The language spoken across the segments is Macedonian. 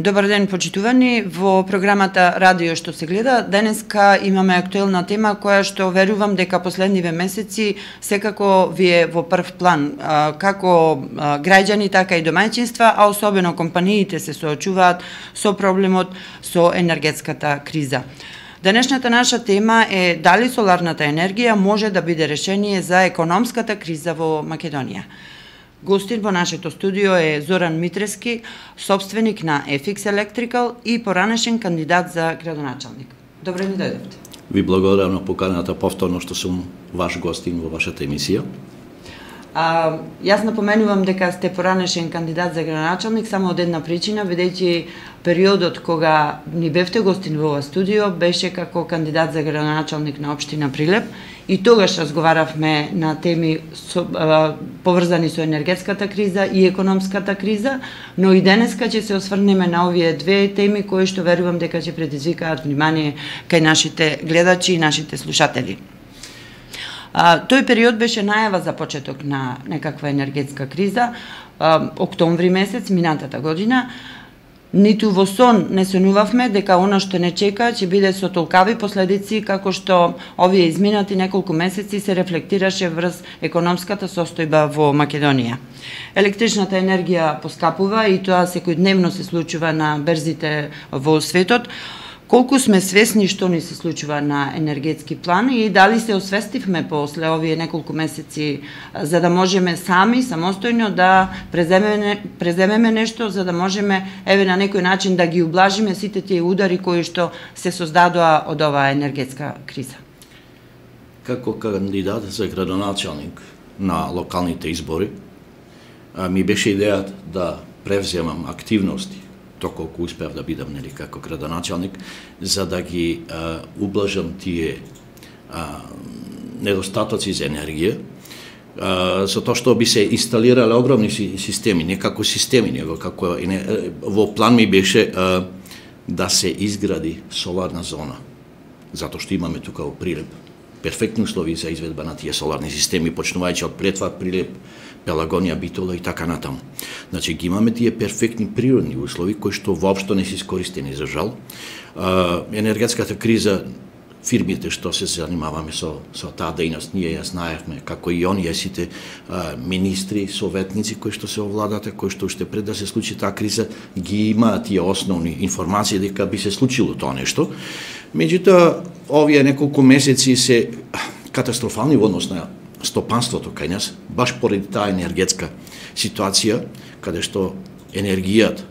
Добар ден, почитувани. Во програмата Радио што се гледа, денеска имаме актуелна тема која што верувам дека последниве месеци секако ви е во прв план. Како граѓани, така и домаќинства, а особено компаниите се соочуваат со проблемот со енергетската криза. Денешната наша тема е дали соларната енергија може да биде решение за економската криза во Македонија. Гостин во нашето студио е Зоран Митрески, собственик на FX Electrical и поранешен кандидат за градоначалник. Добре ни дојдовте. Ви благодарам на поканата повторно што сум ваш гостин во вашата емисија. Јас напоменувам дека сте поранешен кандидат за градоначалник само од една причина, бидејќи периодот кога ни бевте гостин во ова студио беше како кандидат за градоначалник на општина Прилеп и тогаш разговаравме на теми поврзани со енергетската криза и економската криза, но и денеска ќе се осврнеме на овие две теми кои што верувам дека ќе предизвикаат внимание кај нашите гледачи и нашите слушатели. Тој период беше најава за почеток на некаква енергетска криза, октомври месец минатата година. Ниту во сон не сонувавме дека она што не чека ќе биде со толкави последици како што овие изминати неколку месеци се рефлектираше врз економската состојба во Македонија. Електричната енергија поскапува и тоа секојдневно се случува на берзите во светот. Колку сме свесни што ни се случува на енергетски план и дали се освестивме после овие неколку месеци за да можеме сами, самостојно да преземеме нешто, за да можеме еве на некој начин да ги ублажиме сите тие удари кои што се создадоа од оваа енергетска криза? Како кандидат за градоначалник на локалните избори, ми беше идејата да превземам активности доколку успеав да бидам како градоначалник, за да ги ублажам тие недостатоци за енергија, со тоа што би се инсталирале огромни системи, не како системи, него како во план ми беше да се изгради соларна зона, затоа што имаме тука во Прилеп перфектни услови за изведба на тие соларни системи, почнувајќи од Претва, Прилеп, Пелагонија, Битола и така натаму. Значи, ги имаме тие перфектни природни услови кои што воопшто не се искористени за жал. Енергетската криза, фирмите што се занимаваме со таа дејност, ние ја знаевме, како и оние сите министри, советници кои што се овладата, кои што уште пред да се случи таа криза, ги имаат тие основни информации дека би се случило тоа нешто. Меѓутоа, овие неколку месеци се катастрофални во однос на стопанството кај нас, баш поради таа енергетска ситуација, каде што енергијата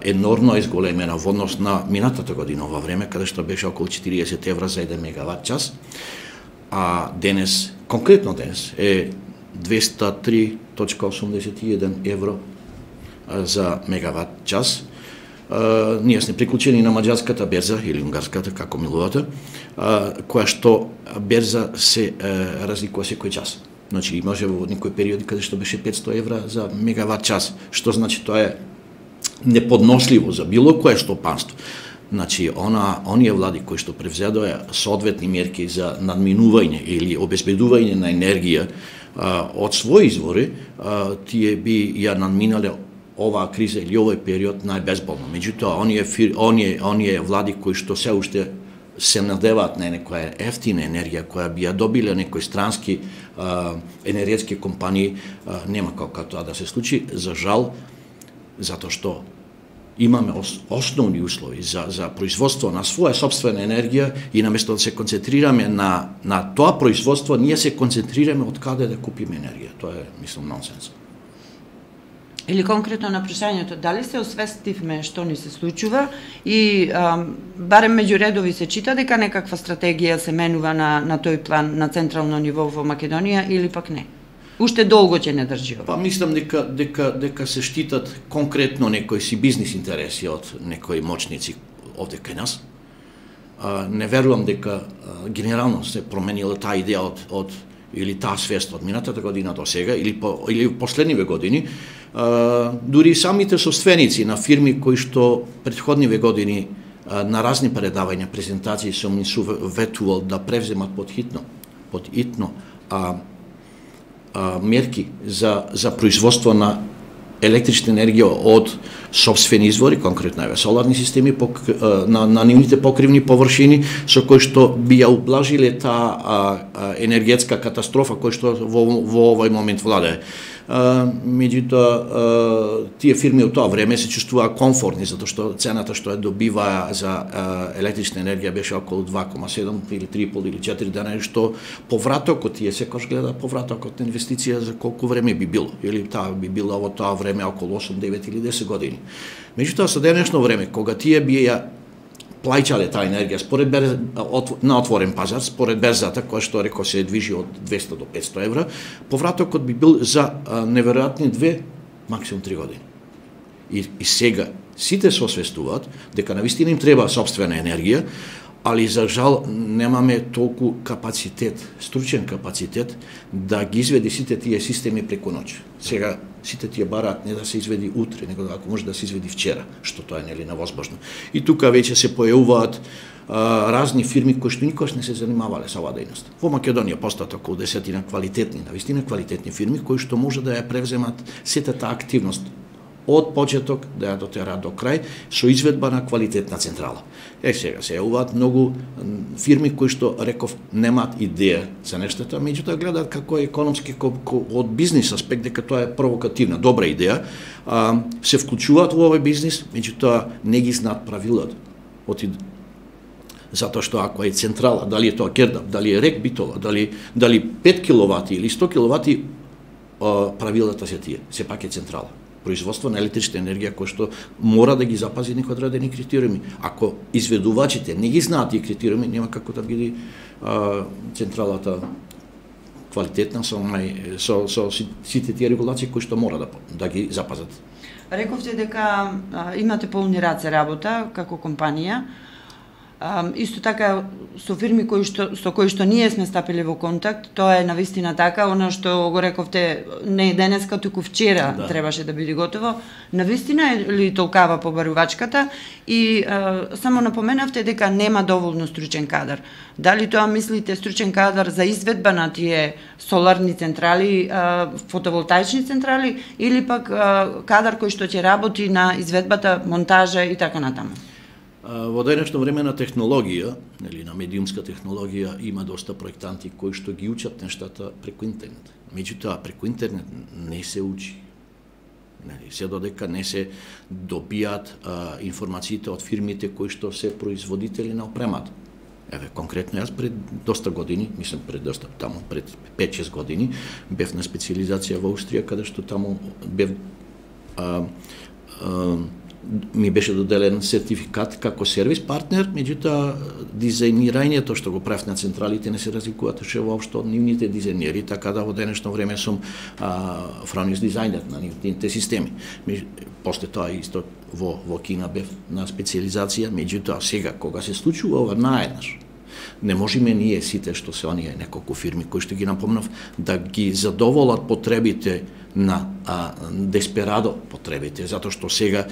енормно изголемена во однос на минатата година ова време, каде што беше околу 40 евра за 1 мегават час, а денес, конкретно денес, е 203,81 евро за мегават час. Ние сме приклучени на маđarската берза или унгарската, како милувате, која што берза се разликува секој час. Значи, имаше во некои периоди каде што беше 500 евра за мегават час, што значи тоа е неподносливо за било кое стопанство. Значи, оние влади кои што превзедоа соодветни мерки за надминување или обезбедување на енергија од своји извори, тие би ја надминале оваа криза или овој период најбезболно. Меѓутоа, оние влади кои што се уште се надеваат на некоја ефтина енергија која би ја добиле некои странски енергетски компании, нема како тоа да се случи, за жал, затоа што имаме основни услови за производство на своја собствена енергија и наместо да се концентрираме на тоа производство, ние се концентрираме од каде да купиме енергија. Тоа е, мислам, нонсенс. Или конкретно на прашањето, дали се освестивме што ни се случува и барем меѓу редови се чита дека некаква стратегија се менува на тој план на централно ниво во Македонија или пак не? Уште долго ќе не држи ова? Па мислам дека се штитат конкретно некои си бизнис интереси од некои моćници овде кај нас. Не верувам дека генерално се променила таа идеја од или таа свест од минатата година до сега или последниве години. Дури самите собственици на фирми кои што претходниве години на разни предавања, презентации сум им советувал да превземат под итно мерки за производство на електрична енергија од сопствени извори, конкретно соларни системи на нивните покривни површини, со кои што би ја ублажиле таа енергетска катастрофа која што во овој момент владее. Меѓутоа, тие фирми од тоа време се чувствуваа комфортни, затоа што цената што ја добиваа за електрична енергија беше околу 2,7 или 3,5 или 4 дена, што повратокот, тие секогаш гледа повратокот на инвестиција за колку време би било, или таа би било во тоа време околу 8, 9 или 10 години. Меѓутоа, со денешно време, кога тие би ја плаќале таа енергија според на отворен пазар, според берзата, која што реков се движи од 200 до 500 евра, повратокот би бил за неверојатни 2, максимум 3 години. И сега сите се освестуваат дека навистина им треба сопствена енергија, али за жал немаме толку капацитет, стручен капацитет да ги изведи сите тие системи преку ноќ. Сега сите тие бараат не да се изведи утре, него ако може да се изведи вчера, што тоа е невозможно. И тука веќе се појавуваат разни фирми кои што никогаш не се занимавале со оваа дејност. Во Македонија постојат околу 10 квалитетни, навистина квалитетни фирми кои што може да ја превземат сета таа активност од почеток да ја дотераат до крај со изведба на квалитетна централа. Сега се јавуваат многу фирми кои што реков немаат идеја за нештата, меѓутоа гледаат како економски од бизнис аспект дека тоа е провокативна, добра идеја, се вклучуваат во овој бизнис, меѓутоа не ги знаат правилата. Затоа што ако е централа, дали е тоа Кердап, дали е РЕК Битола, дали 5 киловати или 100 киловати, правилата се тие, сепак е централа. Производство на електрична енергија кој што мора да ги запази некои одредени критериуми. Ако изведувачите не ги знаат тие критериуми, нема како да биде централата квалитетна со сите тие регулации кои што мора да ги запазат. Рековте дека имате полни раце работа како компанија. Исто така со фирми со кои што ние сме стапиле во контакт, тоа е навистина така, она што го рековте не денеска, туку вчера требаше да биде готово. Навистина е ли толкава побарувачката и само напоменавте дека нема доволно стручен кадар. Дали тоа мислите стручен кадар за изведба на тие соларни централи, фотоволтаични централи или пак кадар кој што ќе работи на изведбата, монтажа и така натаму? Во денешно време на технологија, или на медиумска технологија, има доста проектанти кои што ги учат нештата преку интернет. Меѓутоа, преку интернет не се учи. Се додека не се добијат информациите од фирмите кои што се производители на опремата. Еве, конкретно јас пред доста години, мислам пред 5-6 години, бев на специализација во Австрија, каде што таму бев ми беше доделен сертификат како сервис партнер, меѓутоа дизајнирањето што го правев на централите не се разликуваше воопшто од нивните дизајнери, така да во денешно време сум фронис дизајнер на нивните системи. После тоа исто во Кина бев на специализација, меѓутоа сега кога се случува ова наеднаш, не можеме ние сите што се оние неколку фирми кои што ги напомнав да ги задоволат потребите на десперадо потребите, затоа што сега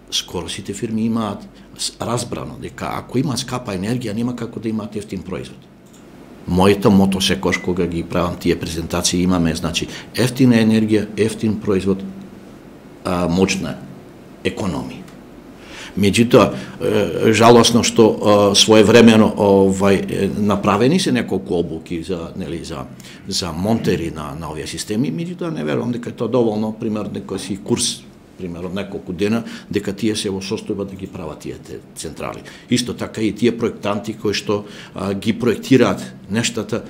скоро сите фирми имаат разбрано дека ако има скапа енергија, нема како да имаат ефтин производ. Моето мото секош кога ги правам тие презентации имаме, значи, ефтина енергија, ефтин производ, моćна економија. Меѓутоа, жалосно што своевремено направени се неколку обуки за монтери на овие системи, меѓутоа не верувам дека е тоа доволно, пример некој си курс примерно неколку дена, дека тие се во состојба да ги прават тие централи. Исто така и тие проектанти кои што ги проектираат нештата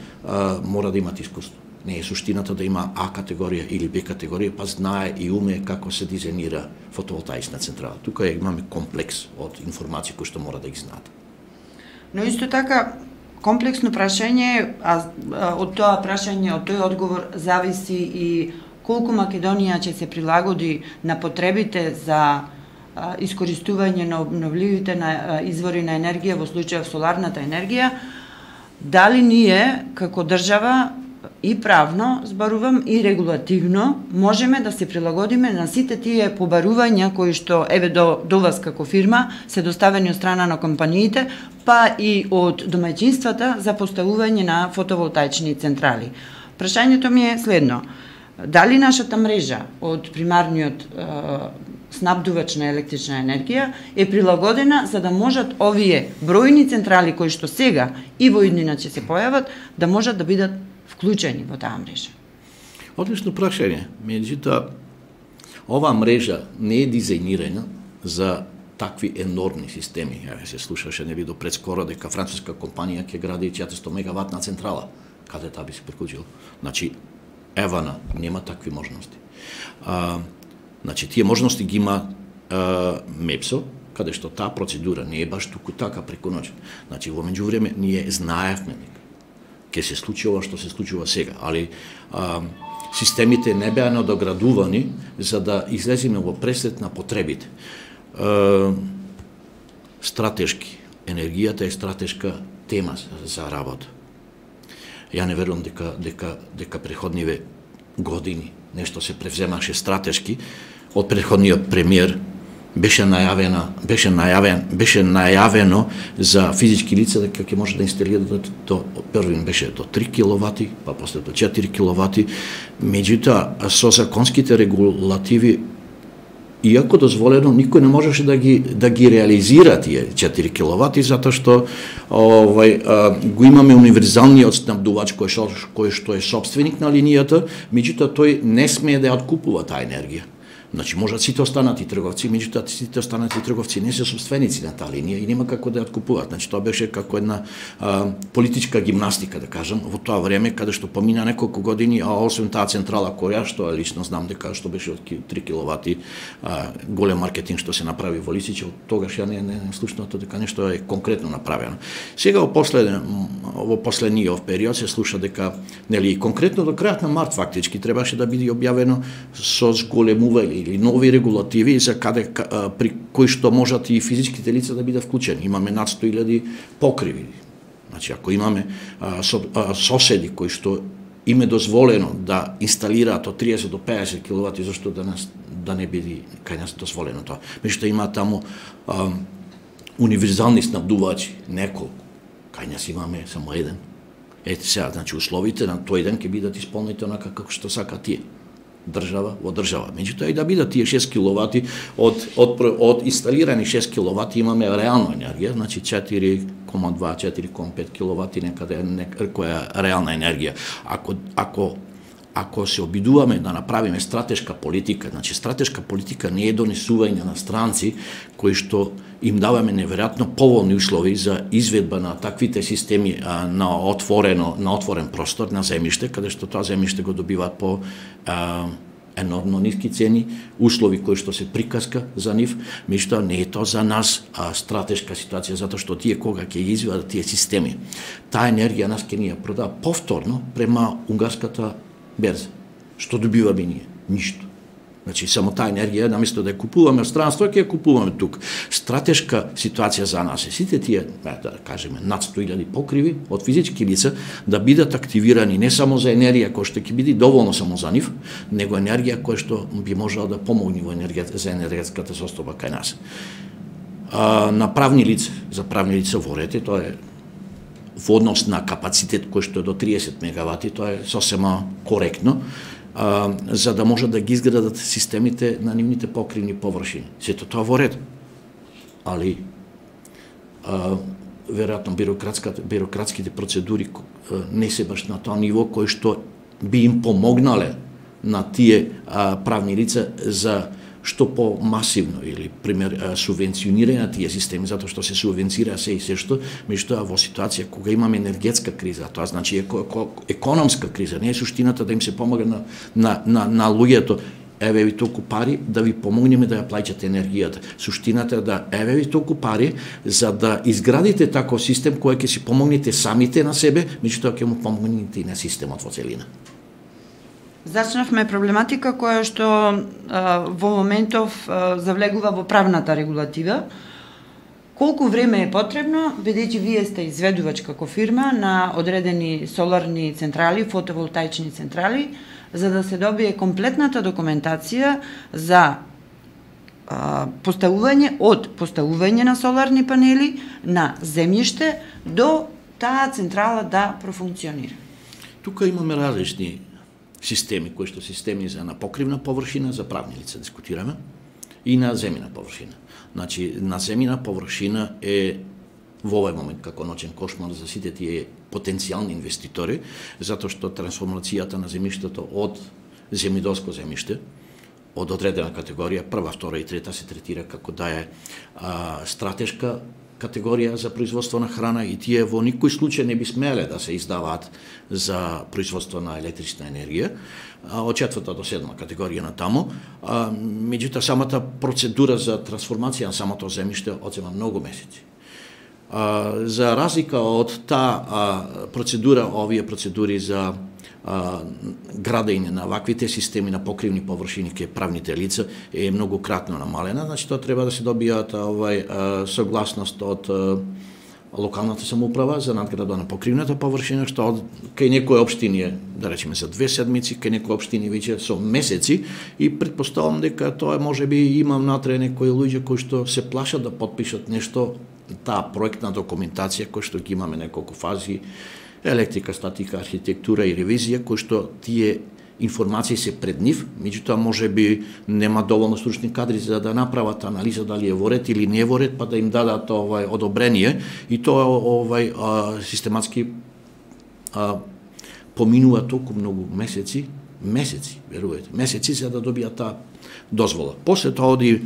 мора да имат искуство. Не е суштината да има А категорија или Б категорија, па знае и уме како се дизајнира фотоволтаична централа. Тука имаме комплекс од информации кои што мора да ги знаат. Но исто така комплексно прашање, од тоа прашање, од тој одговор зависи и колку Македонија ќе се прилагоди на потребите за искористување на обновливите извори на енергија, во случајов соларната енергија, дали ние како држава и правно, зборувам, и регулативно можеме да се прилагодиме на сите тие побарувања кои што еве до вас како фирма се доставени од страна на компаниите, па и од домаќинствата за поставување на фотоволтаични централи. Прашањето ми е следно. дали нашата мрежа од примарниот снабдувач на електрична енергија е прилагодена за да можат овие бројни централи кои што сега и во иднина ќе се појават, да можат да бидат вклучени во таа мрежа. Одлично прашање. Меѓутоа, оваа мрежа не е дизајнирана за такви енормни системи. Се слушаше нели до пред скоро дека француска компанија ќе гради 400 мегаватна централа. Каде таа би се приклучил? Значи, Евана нема такви можности. Значи, тие можности ги има МЕПСО, каде што таа процедура не е баш туку така преку ноќ. Значи, во меѓувреме ние знаевме дека ќе се случи ова што се случува сега, али системите не беа надоградувани за да излеземе во пресет на потребите. Стратешки. Енергијата е стратешка тема за работа. Ја не верувам дека преходниве години нешто се превземаше стратешки. Од претходниот премиер беше најавено за физички лица дека ќе може да инсталираат првин беше до 3 киловати, па после до 4 киловати. Меѓутоа со законските регулативи, иако дозволено, никој не можеше да ги реализира тие 4 киловати, затоа што го имаме универзалниот снабдувач кој што е собственик на линијата, меѓутоа тој не смее да ја откупува таа енергија. Значи, можат сите останати трговци, меѓутоа сите останати трговци не се собственици на таа линија и нема како да ја откупуваат. Значи, тоа беше како една политичка гимнастика, да кажам, во тоа време, каде што помина неколку години, а освен таа централа која што лично знам дека што беше од 3 киловати, голем маркетинг што се направи во Лисиче, од тогаш ја не слушнато дека нешто е конкретно направено. Сега во последниот период се слуша дека нели конкретно до крајот на март фактички требаше да биде објавено со зголемување или нови регулативи за при кои што можат и физичките лица да бидат вклучени. Имаме над 100.000 покриви. Значи, ако имаме соседи кои што им е дозволено да инсталираат од 30 до 50 киловати, зашто да не биде кај нас дозволено тоа. Меѓутоа има таму универзални снабдувачи, неколку. Кај нас имаме само еден. Ете сега, значи условите на тој ден ќе бидат исполнети онака како што сака тие. Држава во држава. Меѓутоа и да бидат тие 6 киловати од инсталирани 6 киловати имаме реална енергија, значи 4,2-4,5 киловати некаде која е реална енергија. Ако се обидуваме да направиме стратешка политика, значи стратешка политика не е донесување на странци кои што им даваме неверојатно поволни услови за изведба на таквите системи на отворен простор на земјиште, каде што тоа земјиште го добиваат по енормно ниски цени, услови кои што се приказка за нив, меѓутоа не е тоа за нас стратешка ситуација, затоа што тие кога ќе извадат тие системи, таа енергија нас ќе ни ја продава повторно према унгарската берза. Што добиваме ние? Ништо. Значи, само таа енергија, наместо да ја купуваме од странство, ќе ја купуваме тук. Стратешка ситуација за нас е сите тие, да кажеме, над 100.000 покриви од физички лица да бидат активирани не само за енергија која што ќе биде доволно само за нив, него енергија која што би можела да помогне за енергетската состојба кај нас. На правни лица, за правни лица во ред, тоа е во однос на капацитет кој што е до 30 мегавати, тоа е сосема коректно, за да можат да ги изградат системите на нивните покривни површини. Сето тоа во ред. Али, веројатно, бирократските процедури не се баш на тоа ниво кој што би им помогнале на тие правни лица за што по-масивно или пример субвенционирање на тие системи, затоа што се субвенцира се и се што, меѓутоа во ситуација кога имаме енергетска криза, тоа значи економска криза, не е суштината да им се помага на луѓето, еве ви толку пари да ви помогнеме да ја плаќате енергијата. Суштината е да еве ви толку пари за да изградите таков систем кој ќе си помогнете самите на себе, меѓутоа ќе му помогнете и на системот во целина. Зачнавме проблематика која што во моментов завлегува во правната регулатива. Колку време е потребно, бидејќи вие сте изведувач како фирма на одредени соларни централи, фотоволтаични централи, за да се добие комплетната документација за поставување на соларни панели на земјиште до таа централа да профункционира? Тука имаме различни системи, кои што системи за на покривна површина, за правни лица дискутираме, и на земјна површина. Значи, на земјна површина е во овој момент како ноќен кошмар за сите тие потенцијални инвеститори, затоа што трансформацијата на земјиштето од земјидолско земјиште, од одредена категорија, прва, втора и трета, се третира како да е стратешка категорија за производство на храна и тие во никој случај не би смеле да се издаваат за производство на електрична енергија, од четврта до седма категорија на таму. Меѓутоа, самата процедура за трансформација на самото земјиште одзема многу месеци. За разлика од таа процедура, овие процедури за градење на ваквите системи на покривни површини ке правните лица е многу кратно намалена, значи тоа треба да се добијат согласност од локалната самоуправа за надграда на покривната површина, што кај некои општини е, да речеме, за 2 седмици, кај некои општини веќе со месеци, и претпоставам дека тоа можеби има внатре некои луѓе кои што се плашат да потпишат нешто, таа проектна документација која што ги имаме неколку фази, електрика, статика, архитектура и ревизија, кои што тие информации се пред нив, меѓутоа можеби нема доволно стручни кадри за да направат анализа дали е во ред или не е во ред, па да им дадат одобрение, и тоа систематски поминува толку многу месеци, верувате, месеци за да добијат таа дозвола. После тоа оди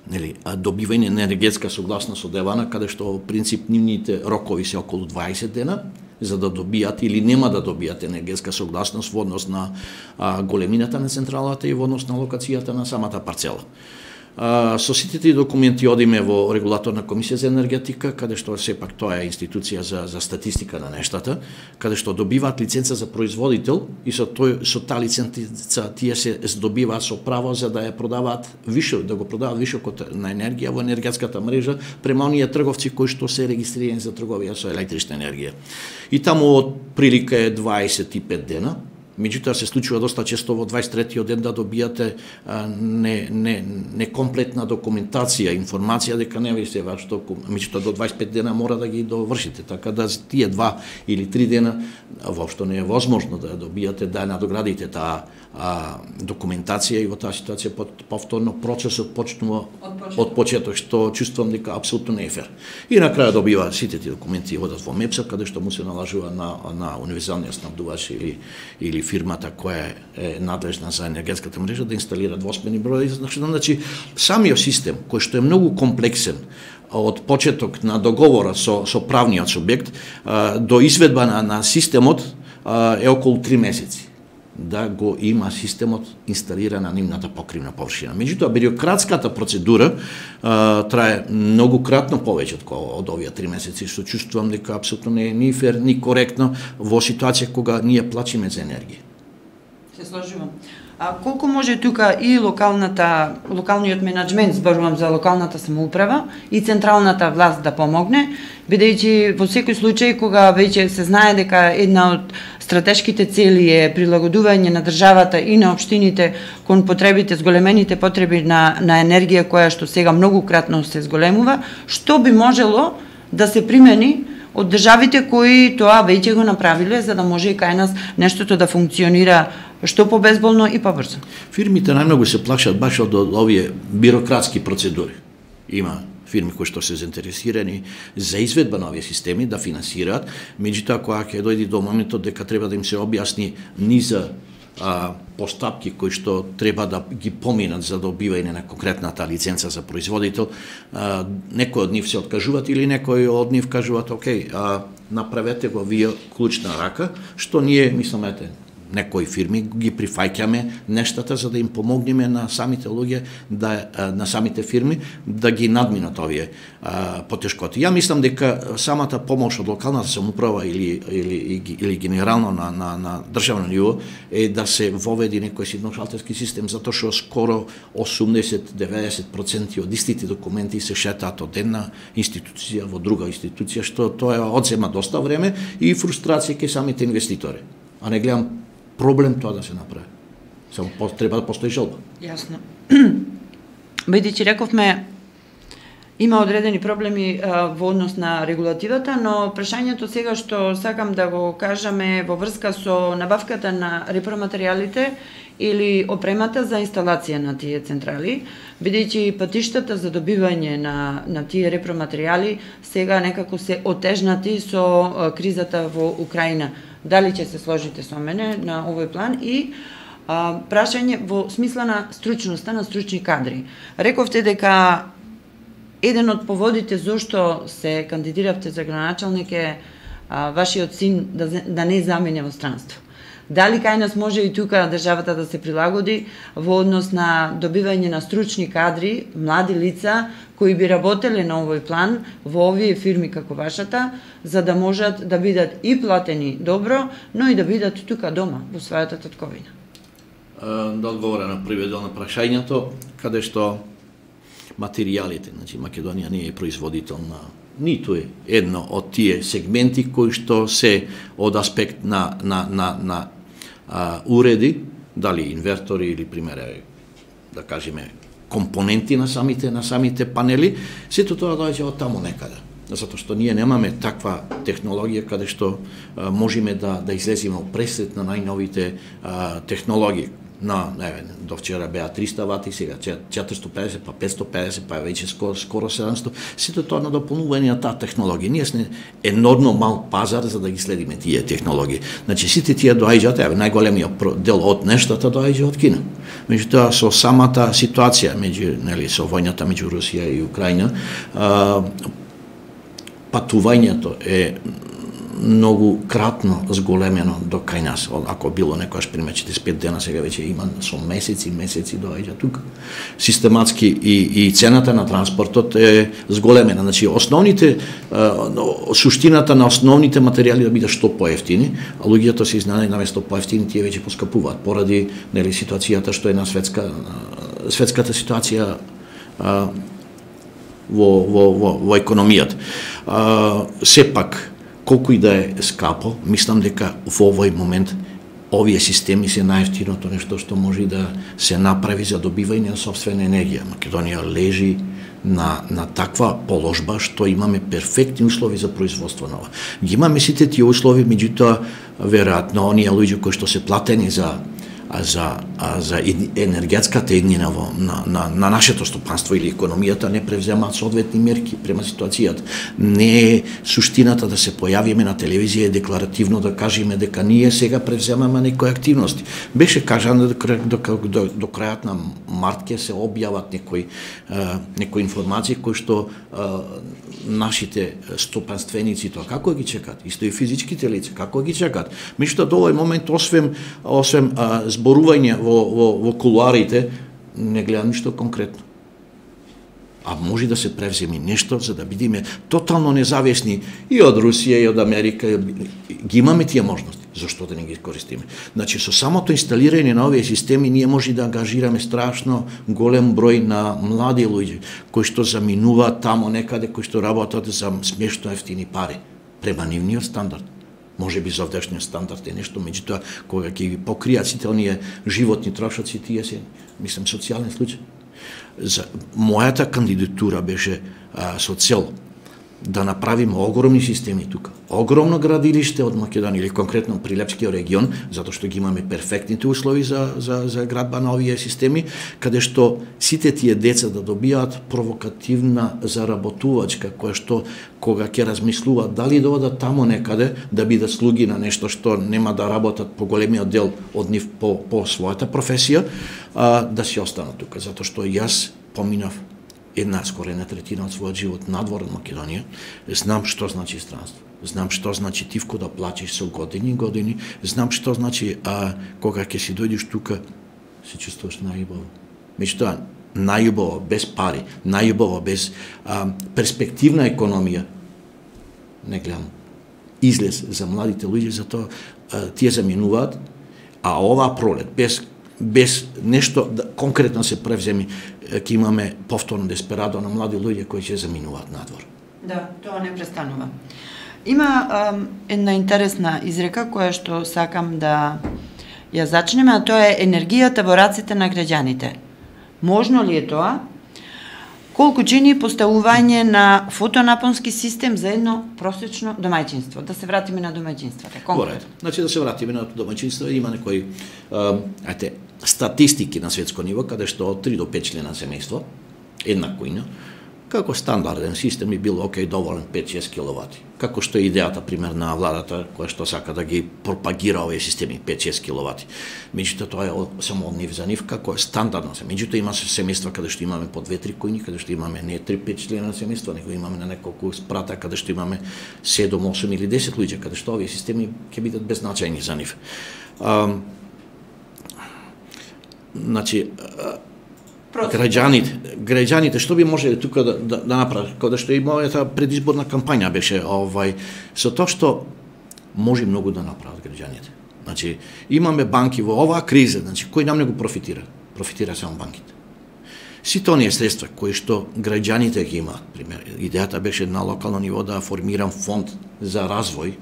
добивање на енергетска согласност од ЕВАНА, каде што принцип нивните рокови се околу 20 дена за да добијат или нема да добијат енергетска согласност во однос на големината на централата и во однос на локацијата на самата парцела. Со сите тие документи одиме во регулаторна комисија за енергетика, каде што сепак тоа е институција за статистика на нештата, каде што добиваат лиценца за производител и со таа лиценца тие се здобиваат со право за да ја продаваат више, да го продаваат вишокот на енергија во енергетската мрежа према оние трговци кои што се регистрирани за трговија со електрична енергија. И таму од прилика е 25 дена. Меѓутоа се случува доста често во 23-тиот ден да добијате некомплетна документација, информација дека не ви се ваш толку, меѓутоа до 25 дена мора да ги довршите, така да тие 2 или 3 дена воопшто не е возможно да добијате, да надоградите таа документација, и во таа ситуација повторно процесот почнува од почеток, што чувствувам дека апсолутно не е фер. И на крај добива сите тие документи одат во МЕПС, каде што му се налажува на универзалниот снабдувач или фирмата која е надлежна за енергетската мрежа да инсталира двосмерни броји. Значи, самиот систем, кој што е многу комплексен од почеток на договора со правниот субјект до изведба на системот е околу 3 месеци да го има системот инсталиран на нивната покривна површина. Меѓутоа, бирократската процедура трае многу кратно повеќе од овие 3 месеци, што чувствувам дека апсолутно не е ни фер, ни коректно во ситуација кога ние плачиме за енергија. Се сложувам. Колку може тука и локалниот менеджмент, зборувам за локалната самоуправа, и централната власт да помогне, бидејќи во секој случај кога веќе се знае дека една од стратешките цели е прилагодување на државата и на општините кон потребите, зголемените потреби на енергија која што сега многу кратно се зголемува, што би можело да се примени од државите кои тоа веќе го направиле, за да може и кај нас нештото да функционира што побезболно и побрзо. Фирмите најмногу се плашат баш од овие бирократски процедури. Има фирми кои што се заинтересирани за изведба на овие системи да финансираат, меѓутоа кога ќе дојде до моментот дека треба да им се објасни низа постапки кои што треба да ги поминат за добивање на конкретната лиценца за производител, некои од нив се откажуваат или некои од нив кажуваат окей, направете го вие клучна рака, што ние мислиме некои фирми ги прифаќаме нештата за да им помогнеме на самите луѓе, на самите фирми да ги надминат овие потешкоти. Ја мислам дека самата помош од локалната самоуправа или генерално на државно ниво е да се воведи некој едношалтерски систем, затоа што скоро 80-90% од истите документи се шетаат од една институција во друга институција, што тоа одзема доста време и фрустрација кај самите инвеститори. А не гледам проблем тоа да се направи. Само треба да постои желба. Јасно. Бидејќи рековме Има одредени проблеми во однос на регулативата, но прашањето сега што сакам да го кажам е во врска со набавката на репроматеријалите или опремата за инсталација на тие централи, бидејќи патиштата за добивање на тие репроматеријали сега некако се отежнати со кризата во Украина. Дали ќе се сложите со мене на овој план? И прашање во смисла на стручноста на стручни кадри. Рековте дека еден од поводите зошто се кандидиравте за градоначалник е вашиот син да не замене во странство. Дали кај нас може и тука државата да се прилагоди во однос на добивање на стручни кадри, млади лица кои би работеле на овој план во овие фирми како вашата, за да можат да бидат и платени добро, но и да бидат тука дома во својата татковина? Да одговорам на првиот дел на прашањето, каде што материјалите, значи Македонија не е производител на ниту е едно од тие сегменти кои што се од аспект на уреди, дали инвертори или примере, да кажеме, компоненти на самите панели, сето тоа доаѓа од таму некаде. Затоа што ние немаме таква технологија каде што можеме да излеземе пресред на најновите технологии. До вчера беа 300 вати, сега 450, па 550, па веќе скоро 700. Сето тоа на дополнување на таа технологија. Ние сме енормно мал пазар за да ги следиме тие технологии. Значи сите тие доаѓаат, најголемиот дел од нештата доаѓа од Кина. Меѓутоа со самата ситуација со војната меѓу Русија и Украина, патувањето е многу кратно зголемено до кај нас. Ако било некојаш пример 45 дена, сега веќе има со месеци доаѓа тука. Систематски и цената на транспортот е зголемена. Значи основните суштината на основните материјали да бидат што поевтини, а луѓето се изненадени наместо поевтини тие веќе поскапуваат поради ситуацијата што е на светската ситуација во економијата. Сепак колку и да е скапо, мислам дека во овој момент овие системи се најевтиното нешто што може да се направи за добивање на сопствена енергија. Македонија лежи на таква положба што имаме перфектни услови за производство нова. Ги имаме сите тие услови, меѓутоа веројатно оние луѓе кои што се платени за енергетската еднина на нашето стопанство или економијата не превземаат соодветни мерки према ситуацијата. Не е суштината да се појавиме на телевизија и декларативно да кажеме дека ние сега превземаме некои активности. Беше кажано до крајот на март ќе се објават некои информации кои што нашите стопанственици тоа како ги чекаат, исто и физичките лица како ги чекаат. Меѓутоа до овој момент освен зборување во кулуарите, не гледам ништо конкретно. А може да се превземи нешто за да бидеме тотално независни и од Русија и од Америка. Ги имаме тие можности. Зошто да не ги користиме? Значи, со самото инсталирање на овие системи ние може да ангажираме страшно голем број на млади луѓе кои што заминуваат тамо некаде, кои што работат за смешно ефтини пари према нивниот стандард. Може би за овдешниот стандард е нешто, меѓутоа кога ќе ги покријат сите оние животни трошоци, тие се, мислам, социјален случај. За мојата кандидатура беше со цел да направиме огромни системи тука. Огромно градилиште од Македонија или конкретно Прилепскиот регион, затоа што ги имаме перфектните услови за градба на овие системи, каде што сите тие деца да добијаат провокативна заработувачка, која што кога ќе размислуваат дали да одат тамо некаде да бидат слуги на нешто што нема да работат по големиот дел од нив по својата професија, да си останат тука, затоа што јас поминав скоро една третина од својот живот надвор од Македонија, знам што значи странство. Знам што значи тивко да плачеш со години и години, знам што значи кога ќе си дојдеш тука, се чувствуваш најубаво. Меѓутоа, најубаво без пари, најубаво без перспективна економија, не гледам излез за младите луѓе, затоа тие заминуваат, а оваа пролет без нешто конкретно се превземи, ќе имаме повторно десперадо на млади луѓе кои ќе заминуваат надвор. Да, тоа не престанува. Има една интересна изрека која што сакам да ја зачнеме, а тоа е енергијата во раците на граѓаните. Можно ли е тоа? колку чини поставување на фотонапонски систем за едно просечно домаќинство? Да се вратиме на домаќинствата, конкретно. Значи да се вратиме на домаќинство, има некои статистики на светско ниво, каде што од 3 до 5 члена семејство, една кујна, како стандарден систем би бил доволен 5-6 киловати. Како што е идејата, пример, на владата, која што сака да ги пропагира овие системи 5-6 киловати. Меѓутоа, тоа е само од нив за нив, како е стандардно се. Меѓутоа, има семејства каде што имаме по 2-3 кујни, каде што имаме не 3-5 члена на семејство, него имаме на неколку спрата, каде што имаме 7, 8 или 10 луѓе, каде што овие системи ќе бидат беззначајни за нив. Значи, граѓаните што би можеле тука да направат, кога што и мојата предизборна кампања беше со тоа што може многу да направат граѓаните. Значи имаме банки во оваа криза, значи кој нам не го профитира? Профитира само банките. Сите оние средства кои што граѓаните ги имаат, пример, идејата беше на локално ниво да формирам фонд за развој,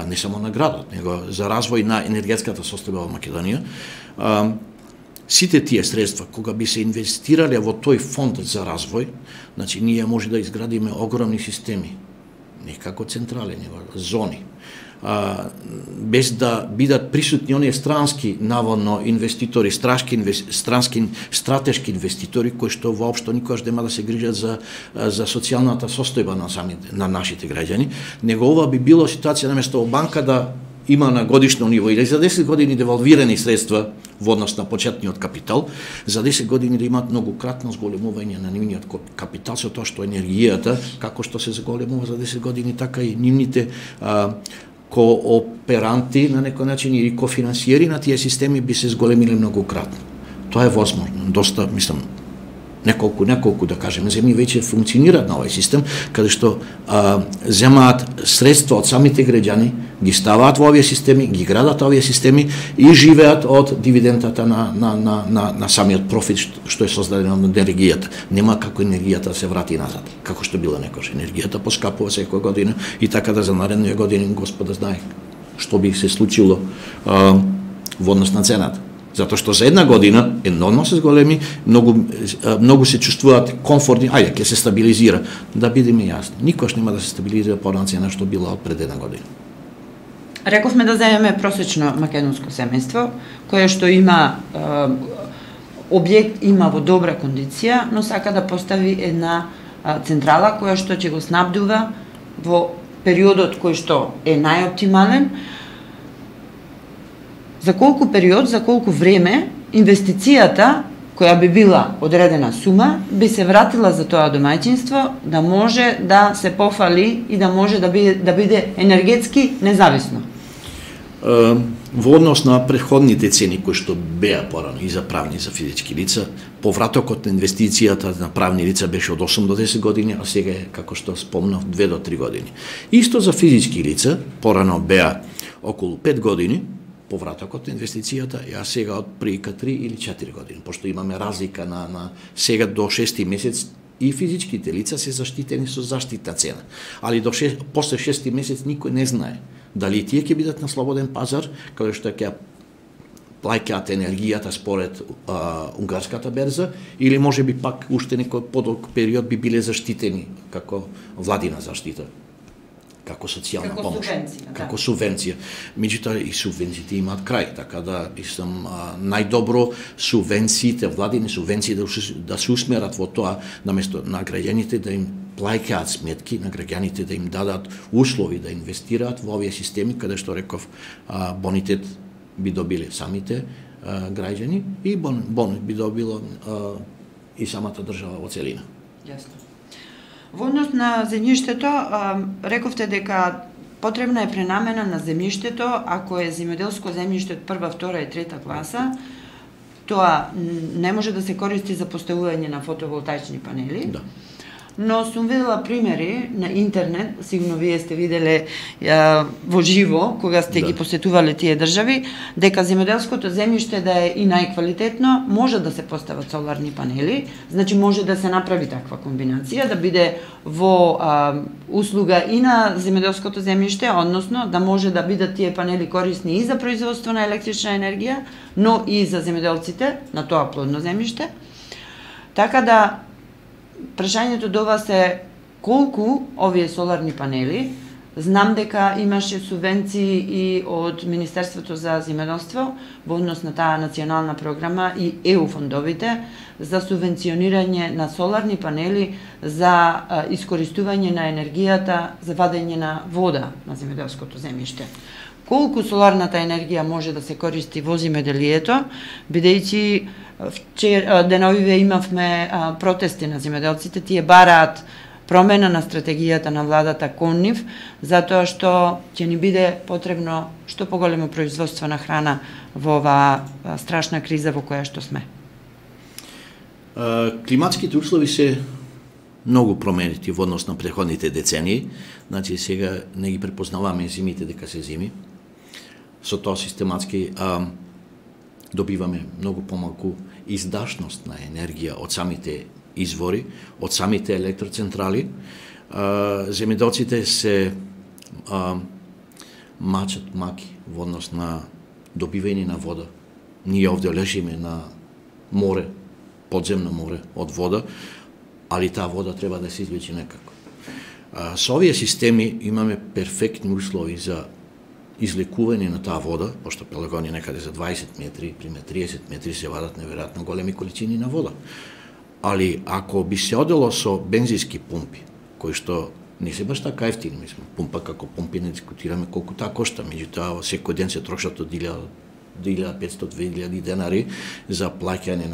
не само на градот, него за развој на енергетската состојба во Македонија. Сите тие средства, кога би се инвестирале во тој фонд за развој, значи ние може да изградиме огромни системи, не како централи, него зони, без да бидат присутни оние странски наводно инвеститори, стратешки инвеститори кои што воопшто никогаш нема да се грижат за социјалната состојба на нашите граѓани, него ова би било ситуација наместо во банка да има на годишно ниво или за 10 години девалвирани средства во однос на почетниот капитал, за 10 години да имаат многократно зголемување на нивниот капитал, со тоа што енергијата, како што се зголемува за 10 години, така и нивните кооперанти на некој начин или кофинансиери на тие системи би се зголемиле многократно. Тоа е возможно. Доста, мислам, неколку да кажеме земји веќе функционираат на овој систем, каде што земаат средства од самите граѓани, ги ставаат во овие системи, ги градат овие системи и живеат од дивидендата на самиот профит што е создаден од енергијата. Нема како енергијата да се врати назад, како што била некош. Енергијата поскапува секоја година и така да за наредните години Господа знае што би се случило во однос на цената. Затоа што за една година енормно се зголеми, многу се чувствуваат комфортни, ајде, ќе се стабилизира. Да бидеме јасни, никош нема да се стабилизира порана цена што била од пред една година. Рековме да земеме просечно македонско семејство, кое што има објект, има во добра кондиција, но сака да постави една централа која што ќе го снабдува во периодот кој што е најоптимален. За колку период, за колку време инвестицијата која би била одредена сума би се вратила за тоа домаќинство да може да се пофали и да може да биде енергетски независно? Во однос на претходните цени кои што беа порано и за правни и за физички лица, повратокот на инвестицијата на правни лица беше од 8 до 10 години, а сега е, како што спомнав, 2 до 3 години. Исто за физички лица, порано беа околу 5 години, повратокот на инвестицијата, а сега од прилика 3 или 4 години, пошто имаме разлика на сега до 6 месец и физичките лица се заштитени со заштитна цена. Али после 6 месец никој не знае дали тие ќе бидат на слободен пазар, каде што ќе плаќаат енергијата според унгарската берза, или може би пак уште некој подолг период би биле заштитени како владина заштита, како социјална помош, како субвенција. Меѓутоа и субвенциите имаат крај, така да мислам најдобро субвенциите, владини субвенции да се усмерат во тоа, наместо на граѓаните да им плаќаат сметки, на граѓаните да им дадат услови да инвестираат во овие системи, каде што реков бонитет би добиле самите граѓани и бонус би добило и самата држава во целина. Јасно. Во однос на земјиштето, рековте дека потребна е пренамена на земјиштето, ако е земјоделско земјиште од 1, 2 и 3 класа, тоа не може да се користи за поставување на фотоволтаични панели. Да. Но сум видела примери на интернет, сигурно вие сте виделе во живо, кога сте ги посетувале тие држави, дека земјоделското земјиште да е и најквалитетно, може да се постават соларни панели, значи може да се направи таква комбинација, да биде во услуга и на земјоделското земјиште, односно да може да бидат тие панели корисни и за производство на електрична енергија, но и за земјоделците на тоа плодно земјиште. Така да прашањето до вас е колку овие соларни панели, знам дека имаше субвенции и од Министерството за земјоделство во однос на таа национална програма и ЕУ фондовите за субвенционирање на соларни панели за искористување на енергијата за вадење на вода на земјоделското земјиште. Колку соларната енергија може да се користи во земјоделието, бидејќи деновиве имавме протести на земјоделците, тие бараат промена на стратегијата на владата кон нив, затоа што ќе ни биде потребно што поголемо производство на храна во оваа страшна криза во која што сме. Климатските услови се многу променети во однос на претходните децении. Значи сега не ги препознаваме зимите дека се зими. Со тоа систематски добиваме многу помалку издашност на енергија од самите извори, од самите електроцентрали. Земјоделците се мачат маки во однос на добивање на вода. Ние овде лежиме на море, подземно море од вода, али таа вода треба да се извлече некако. Со овие системи имаме перфектни услови за излекување на таа вода, пошто Пелагонија некаде за 20 метри, пример 30 метри се вадат неверојатно големи количини на вода. Али ако би се одело со бензински пумпи, кои што не се баш така ефтини, мислам, пумпа како пумпи не дискутираме колку таа кошта, меѓутоа секој ден се трошат од 1500-2000 денари за плаќање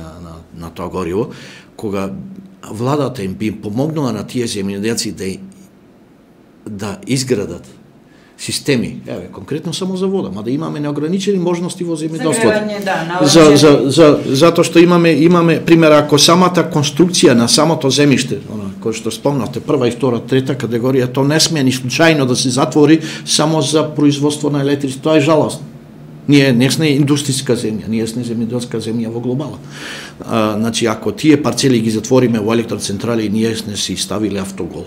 на тоа гориво, кога владата им би помогнала на тие земјоделци да изградат системи, конкретно само за вода, мада имаме неограничени можности во земјоделството. Затоа што имаме пример, ако самата конструкција на самото земјиште, кој што спомнавте, прва и втора, трета категорија, то не смее ни случајно да се затвори само за производство на електричество, тоа е жалост. Ние не сме индустријска земја, ние сме земјоделска земја во глобала. Значи, ако тие парцели ги затвориме во електроцентрали, ние сме си ставиле автогол.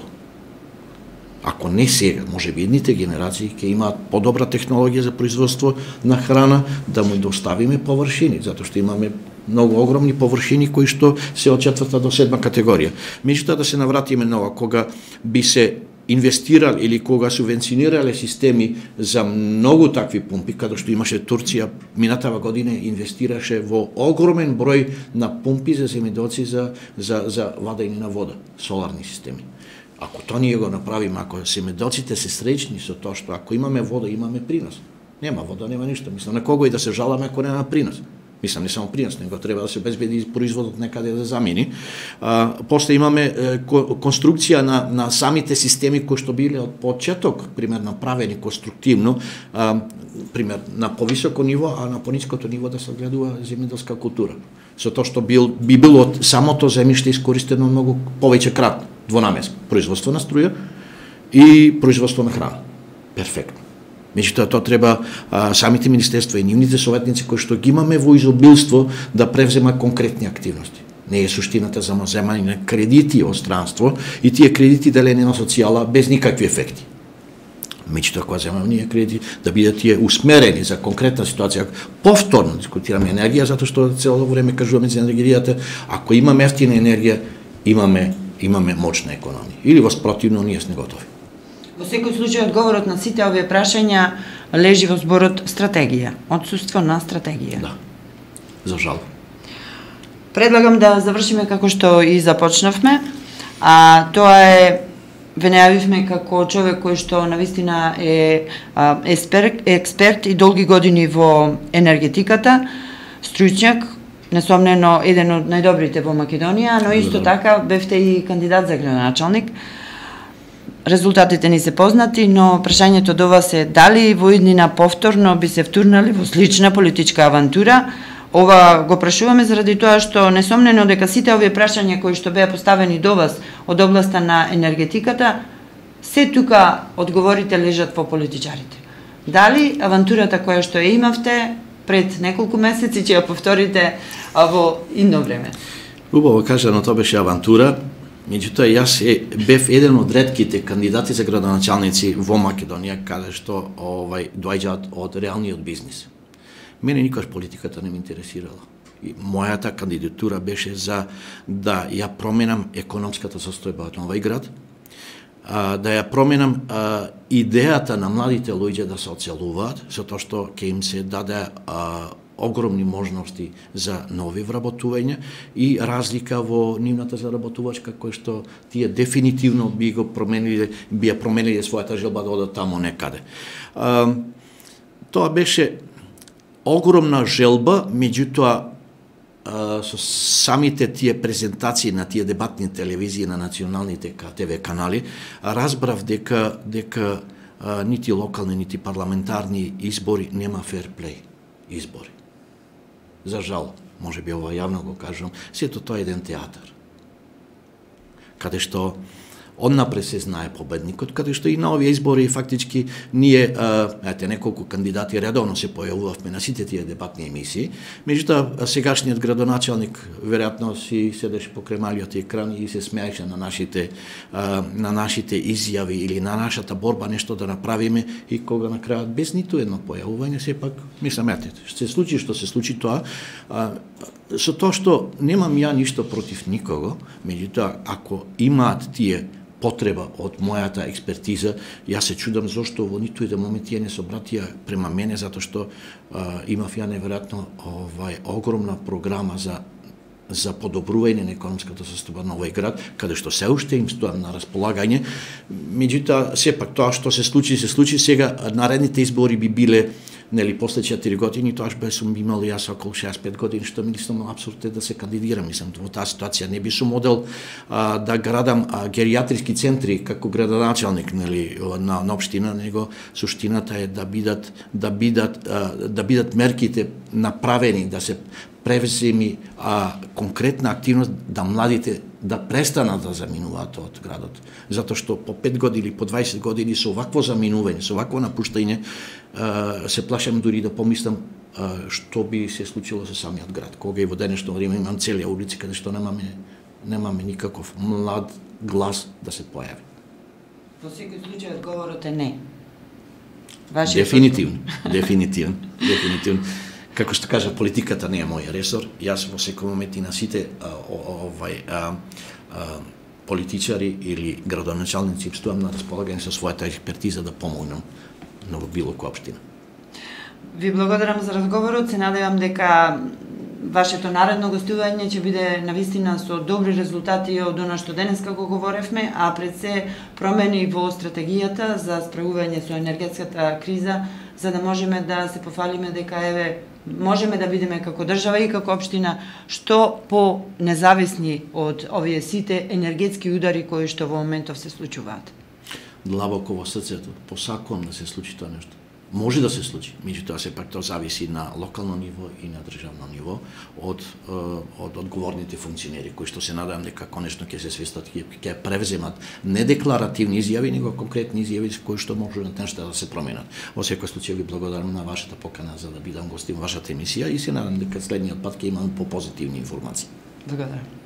Ако не сега, може би едните генерации ќе имаат подобра технологија за производство на храна, да му доставиме површини, затоа што имаме многу огромни површини кои што се од 4-та до 7-та категорија. Меѓутоа да се навратиме на ова, кога би се инвестирал или кога субвенционирале системи за многу такви пумпи, каде што имаше Турција минатава година инвестираше во огромен број на пумпи за земјоделци за вадење на вода, соларни системи. Ако тоа ние го направиме, ако земјоделците се среќни со тоа што ако имаме вода, имаме принос. Нема вода, нема ништо. Мислам, на кого и да се жаламе ако нема принос. Мислам, не само принос, него треба да се обезбеди производот некаде да замени. После имаме конструкција на самите системи кои што биле од почеток, пример, направени конструктивно, пример, на повисоко ниво, а на пониското ниво да се гледува земјоделска култура. Со тоа што би било од самото земјиште искористено многу повеќе кратно, двонамеско, производство на струја и производство на храна. Перфектно. Меѓутоа, тоа треба самите министерства и нивните советници кои што ги имаме во изобилство да превземат конкретни активности. Не е суштината за земање на кредити од странство и тие кредити делени на социјала без никакви ефекти. Меѓутоа, кога земаме ние кредити, да бидат тие усмерени за конкретна ситуација. Повторно дискутираме енергија, затоа што цело време кажуваме за енергијата, ако имаме ефтина енергија, имаме моćна економија. Или воспротивно, ние сме готови. Во секој случај, одговорот на сите овие прашања лежи во зборот стратегија, отсуство на стратегија. Да, за жал. Предлагам да завршиме како што и започнавме, а тоа е, ве најавивме како човек кој што навистина е експерт и долги години во енергетиката, стручњак, несомнено еден од најдобрите во Македонија, но исто така бевте и кандидат за градоначалник. Резултатите ни се познати, но прашањето до вас е дали во иднина повторно би се втурнали во слична политичка авантура. Ова го прашуваме заради тоа што несомнено дека сите овие прашања кои што беа поставени до вас од областа на енергетиката, се тука одговорите лежат во политичарите. Дали авантурата која што ја имавте пред неколку месеци ќе ја повторите во идно време? Убаво кажано, тоа беше авантура. Меѓутоа, јас бев еден од ретките кандидати за градоначалници во Македонија, каде што доаѓаат од реалниот бизнис. Мене никош политиката не ме интересирала. мојата кандидатура беше за да ја променам економската состојба од Нови Град, да ја променам идејата на младите луѓе да се оцелуваат, со тоа што ќе им се даде огромни можности за нови вработувања и разлика во нивната заработувачка, кој што тие дефинитивно би ја промениле својата желба да одат таму некаде. Тоа беше огромна желба, меѓутоа со самите тие презентации на тие дебатни телевизии на националните ТВ канали, разбрав дека нити локални, нити парламентарни избори нема ферплей избори. За жал, може би ова јавно го кажам, сето тоа е еден театар. Каде што однапред се знае победникот, каде што и на овие избори фактички ние, неколку кандидати редовно се појавувавме на сите тие дебатни емисии, меѓутоа сегашниот градоначалник веројатно си седеше покрај малиот екран и се смееше на нашите изјави или на нашата борба нешто да направиме и кога на крајот без ниту едно појавување сепак мислам се случи што се случи тоа, со тоа што немам ја ништо против никого, меѓутоа ако имаат тие потреба од мојата експертиза, јас се чудам зошто во ниту еден момент тие не се обратија према мене, затоа што имав ја неверојатно огромна програма за подобрување на економската состојба на овој град, каде што се уште им стоам на располагање. Меѓутоа, сепак тоа што се случи, сега наредните избори би биле после 4 години, тоаш бе сум имал јас околу 65 години, што мислам апсурд е да се кандидирам. Мислам, во таа ситуација не би сум модел да градам геријатриски центри како градоначалник на општина, него суштината е да бидат мерките направени, да се превземи конкретна активност да младите да престанат да заминуваат од градот. Затоа што по 5 години или по 20 години со овакво заминување, со овакво напуштање, се плашам дури да помислам што би се случило со самиот град. Кога и во денешно време имам цели улици каде што немаме никаков млад глас да се појави. Во секој случај одговорот е не. Дефинитивно. Како што кажа, политиката не е мој ресор. Јас во секој момент и на сите политичари или градоначалници им стоам на располагање со својата експертиза да помогнам на било која општина. Ви благодарам за разговорот. Се надевам дека вашето наредно гостување ќе биде навистина со добри резултати од она што денеска го говоревме, а пред се промени во стратегијата за справување со енергетската криза, за да можеме да се пофалиме дека можеме да бидеме како држава и како општина што по независни од овие сите енергетски удари кои што во моментов се случуваат. Длабоко во срцето, посакувам да се случи тоа нешто. Може да се случи, меѓутоа сепак тоа зависи на локално ниво и на државно ниво од одговорните функционери кои што се надевам дека конечно ќе се свестат, ќе превземат не декларативни изјави, него конкретни изјави кои што може на нешто да се променат. Во секој случај ви благодарам на вашата покана за да бидам гостин во вашата емисија и се надевам дека следниот пат ќе имам по позитивни информации. Благодарам.